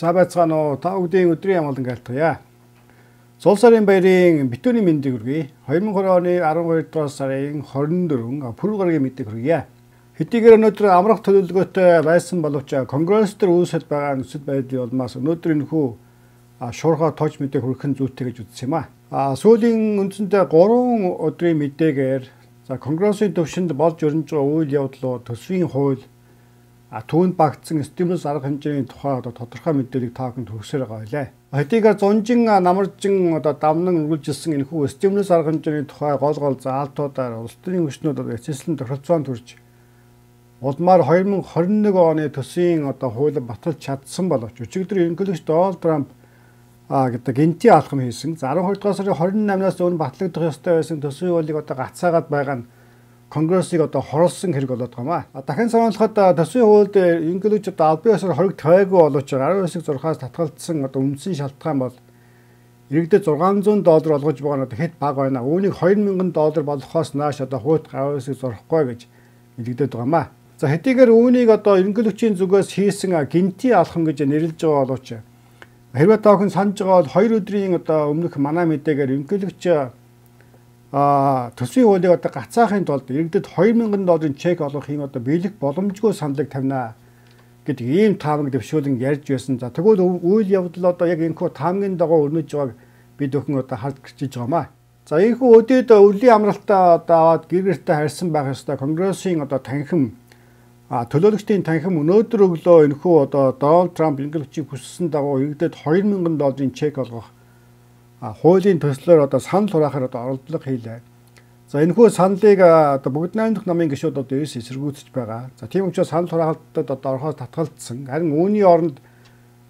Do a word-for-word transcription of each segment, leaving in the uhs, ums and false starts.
За байцгаана уу. Та бүгдийн өдрийн амгалан айлтгая. Зул сарын баярын битүүний мэндийг хүргэе. хоёр мянга двадцать оны аравдугаар дугаар сарын хорин дөрөв пүрэв гарагийн мэдээг хүргэе. Хэдийгээр өнөөдөр амрах төлөвлөгөөтэй байсан боловч Конгресс төр үүсэж байгаа нөхцөл байдлын улмаас өнөөдөр энэхүү шуурхай тооч мэдээг хүргэх нь зүйтэй гэж үзсэн юм а. Сүүлийн үндсэндээ гурван өдрийн мэдээгээр за Конгрессийн төвшөнд болж өрнөж байгаа үйл явдлуу төсвийн хууль түүнд багтсан стимулус арга хэмжээний тухай одоо тодорхой мэдээллийг та бүхэнд хүргсээр байгаа байлаа. Хэдийгээр зунжин намаржин одоо давнан үргэлжилсэн энэхүү стимулус арга хэмжээний тухай гол гол заалтуудаар улс төрийн хүчнүүд одоо эцэслэн тохиролцоонд хүрч улмаар хоёр мянга хорин нэг оны төсвийн одоо хуулийг баталж чадсан боловч өчигдөр ерөнхийлөгч Дональд Трамп а гэдэг гинти алхам хийсэн. За аравдугаар дугаар сарын хорин намнаас өмнө батлагдах ёстой байсан төсвийн хуулийг одоо гацаагаад байгаа нь Конгрессыг одоо хорлсон хэрэг болоод байгаа юм а. Дахин сануулхад төсвийн хуульд ерөнхийлөгч одоо албан ёсоор хориг тавиагүй боловч аравын хэсэг зурхаас татгалзсан одоо үндсэн шалтгаан бол иргэдэд зургаан зуун доллар олгож байгаа нь одоо хэд бага байна. Үүнийг хоёр мянган доллар болгохоос нааш одоо хууль аравын хэсэг зурхгүй гэж илэгдээд байгаа юм а. За хэдийгээр үүнийг одоо ерөнхийлөгчийн зүгээс хийсэн гинти алхам гэж нэрлэж байгаа боловч хэрвээ та бүхэн санаж байгаа бол хоёр өдрийн одоо өмнөх манай мэдээгээр ерөнхийлөгч а төсвийн хуулийг одоо гацаахын тулд иргэдэд хоёр мянган долларын чек олгохын одоо биелэх боломжгүй саналыг тавина гэдэг ийм таамаг дэвшүүлэн ярьж байсан. За тэгвэл үйл явдал одоо яг энэхүү таамгийн дагуу өрнөж байгааг бид өхөн одоо харж гэрчиж байгаамаа. За энэхүү өдөөд өвлийн амралтаа одоо аваад гэр гэртээ харьсан байх ёстой Конгрессийн одоо танхим а төлөөлөгчдийн танхим өнөөдөр өглөө энэхүү одоо Дональд Трамп ерөнхийлөгчийг хүссэн дагуу иргэдэд хоёр мянган долларын чек олгох хуулийн төслөөр одоо санал хураахаар одоо оролдлого хийлээ. За энэхүү саналыг одоо бүгд найрамдах намын гишүүд одоо эрс эсэргүүцэж байгаа. За тийм учраас санал хураалтад одоо орохоос татгалзсан. Харин үүний оронд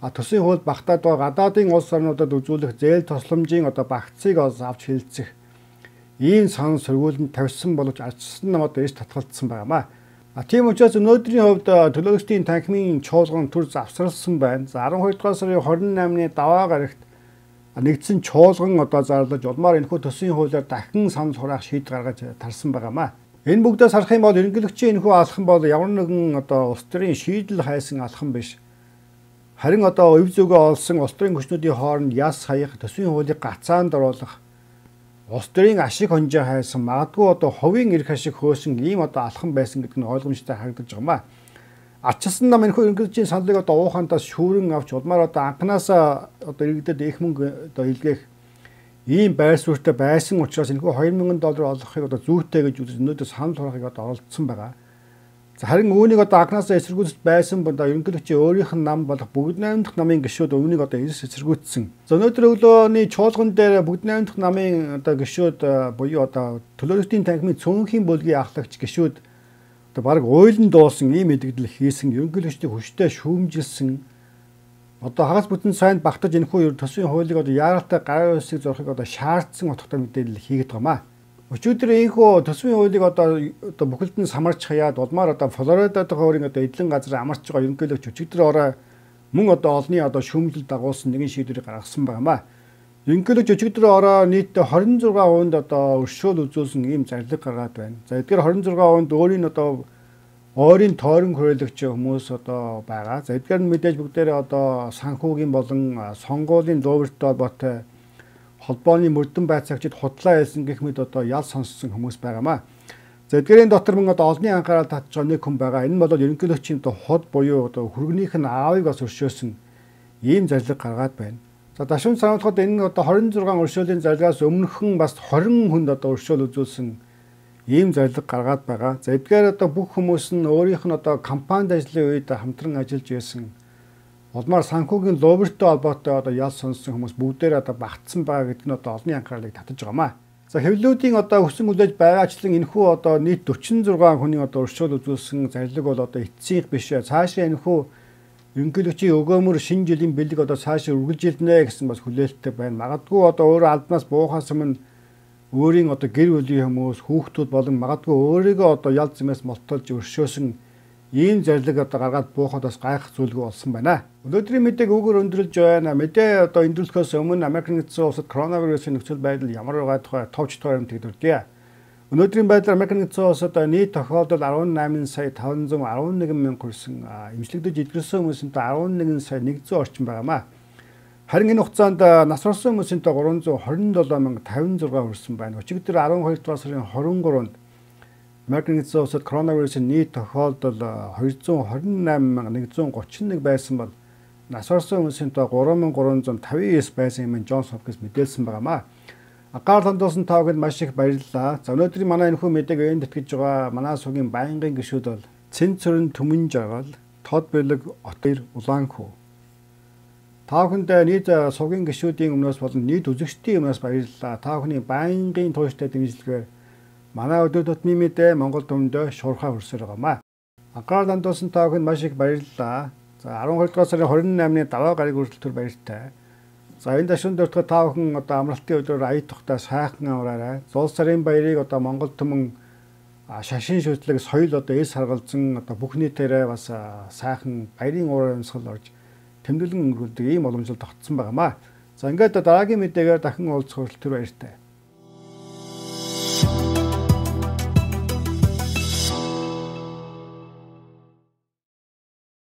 төсвийн хууль багтаад байгаа гадаадын улс орнуудад үзүүлэх зээл тусламжийн одоо багцыг авч хилцэх ийм санал сөргүүлэнд тавьсан боловч ардчилсан нам одоо эрс татгалзсан байгаамаа. А тийм учраас өнөөдрийн хувьд төлөөлөгчдийн танхимын чуулган төр завсарласан байна. За аравдугаар дугаар сарын хорин наймны даваа гарагт нэгдсэн чуулган одоо зарлаж улмаар энэхүү төсвийн хуулиар дахин санал хураах шийдэл гаргаж тарсан байгаамаа. Энэ бүгдээс харах юм бол ерөнхийлөгчийн энэхүү алхам бол ямар нэгэн одоо улс төрийн шийдэл хайсан алхам биш. Харин одоо өв зүгөө олсон улс төрийн хүчнүүдийн хооронд яс хаях, төсвийн хуулийг гацаанд оруулах, улс төрийн ашиг хонжоо хайсан, магадгүй одоо хувийн эрх ашиг хөөсөн ийм одоо алхам байсан гэдэг нь ойлгомжтой харагдаж байгаамаа. Ардчилсан нам энэхүү ерөнхийлөгчийн саналыг одоо уухантаас шүүрэн авч улмаар одоо анханасаа одоо иргэдэд их мөнгө одоо илгээх ийм байр суурьтай байсан учраас энэхүү хоёр мянган доллар олгохыг одоо зүйтэй гэж үзэж өнөөдөр санал хураахыг одоо оролдсон байгаа. За харин үүнийг одоо анханасаа эсэргүүцэж байсан бол ерөнхийлөгчийн өөрийнх нь нам болох бүгд найрамдах намын гишүүд үүнийг одоо эрс эсэргүүцсэн. За өнөөдөр өглөөний чуулган дээр бүгд найрамдах намын одоо гишүүд буюу одоо төлөөлөгчдийн танхимын цөөнхийн бүлгийн ахлагч гишүүд одоо баг ойлон дуулсан ийм мэдгдэл хийсэн ерөнхийлөгчдийн хүчтэй шүүмжилсэн одоо хагас бүтэн сайнд багтаж энэхүү төсвийн хуулийг одоо яаралтай гарын үсгийг зурхыг одоо шаардсан утгатай мэдээлэл хийгээд байгаамаа. Өчигдөр энэхүү төсвийн хуулийг одоо одоо бүхэлд нь самарч хаяад улмаар одоо Флоридад хөрийн одоо эдлэн газар амарч байгаа ерөнхийлөгч өчигдөр орой мөн одоо олонний одоо шүүмжил дагуулсан нэгэн шийдвэрийг гаргасан байгаамаа. Ерөнхийлөгч өчигдөр орой нийт хорин зургаан хувинд одоо өршөөл үзүүлсэн ийм зарлиг гаргаад байна. За эдгээр хорин зургаан хувинд өөрийн одоо ойрын тойрон хүрээлэгч хүмүүс одоо байгаа. За эдгээр нь мэдээж бүгдээрээ одоо санхүүгийн болон сонгуулийн дуугартай холбоотой холбооны мөрдөн байцаагчид худлаа хэлсэн гэх мэт одоо ял сонссон хүмүүс байгаамаа. За эдгээрийн дотор мөн одоо олонний анхаарал татж байгаа нэг хүн байгаа. Энэ бол ерөнхийлөгчийн одоо ход буюу одоо хүргэнийх нь аавыг бас өршөөсөн ийм зарлиг гаргаад байна. За дашин сануулхад энэ одоо хорин зургаан өршөөлийн зарлагаас өмнөхөн бас хорин хүнд одоо өршөөл үзүүлсэн ийм зарлиг гаргаад байгаа. За эдгээр одоо бүх хүмүүс нь өөрийнх нь одоо компанид ажлын үед хамтран ажиллаж байсан улмаар санхүүгийн лоббертэй холбоотой одоо ял сонссон хүмүүс бүгдээр одоо багтсан байгаа гэдэг нь одоо олонний анхаарлыг татаж байгаамаа. За хэвлүүдийн одоо өсөн хүлээж байгаачлан энэхүү одоо нийт дөрвөн зургаан хүний одоо өршөөл үзүүлсэн зарлиг бол одоо эцсийнх биш. Цаашаа энэхүү ерөнхийлөгчийн өгөөмөр шинэ жилийн бэлэг одоо цаашаа үргэлжилнэ гэсэн бас хүлээлттэй байна. Магадгүй одоо өөрөө албанаас буухаас өмнө өөрийн одоо гэр бүлийн хүмүүс, хүүхдүүд болон магадгүй өөрийгөө одоо ял зэмээс молтолж өршөөсөн ийм зарлиг одоо гаргаад буухад бас гайхах зүйлгүй болсон байна. Өнөөдрийн мэдээг өгөр өндөрлж байна. Мэдээ одоо өндөрлөхөөс өмнө Америк нэгдсэн улсад коронавирусын нөхцөл байдал ямар байгаа тухай товч тойрон төгдөрдөө. Өнөөдрийн байдлаар Америк нэгдсэн улсад нийт тохиолдол арван найман сая таван зуун арван нэгэн мянга хүрсэн эмчлэгдэж идэрсэн хүмүүсэнтэй арван нэгэн сая нэгдсэн орчим байгаамаа. Харин энэ хугацаанд нас барсан хүмүүсэнтэй гурван зуун хорин долоо мянга тавин зургаа хүрсэн байна. Өчигдөр арван хоёр дугаар сарын хорин гурванд Америк нэгдсэн улсад коронавирусын нийт тохиолдол хоёр зуун хорин найман мянга нэгдүгээр гучин нэг байсан бол нас барсан хүмүүсэнтэй гурван мянган гурван зуун тавин девять байсан юм Джонс Хопкинс мэдээлсэн байгаамаа. Анхаарал хандуулсан тавганд маш их баярлалаа. За өнөөдрийн манай энэхүү мэдээг энд тэтгэж байгаа манай сугийн байнгын гишүүд бол Цэнцөрн Түмэн Жаргал, Тод Бэлэг, Отер Улаанхүү. Та бүхэнд нийт сугийн гишүүдийн өмнөөс болон нийт үзэгчдийн өмнөөс баярлалаа. Та бүхний байнгын тууштай дэмжлэгээр манай өдөр тутмын мэдээ Монгол төмөндөө шуурхай хүрсээр байгаамаа. Анхаарал хандуулсан та бүхэнд маш их баярлалаа. За арван хоёр дугаар сарын хорин наймны даваа гараг хүртэл төр баяртай. За энэ дашин дөртгө та бүхэн одоо амралтын өдрөөр ая тухтай сайхан амраарай. Зул сарын баярыг одоо Монгол түмэн шашин шүтлэг соёл одоо эс харгалзан одоо бүх нийтээрээ бас сайхан баярын уур амьсгал орж тэмдэглэн өнгөрүүлдэг ийм боломжтой тогтсон байгаамаа. За ингээд дараагийн мэдээгээр дахин уулзах хүртэл баяртай.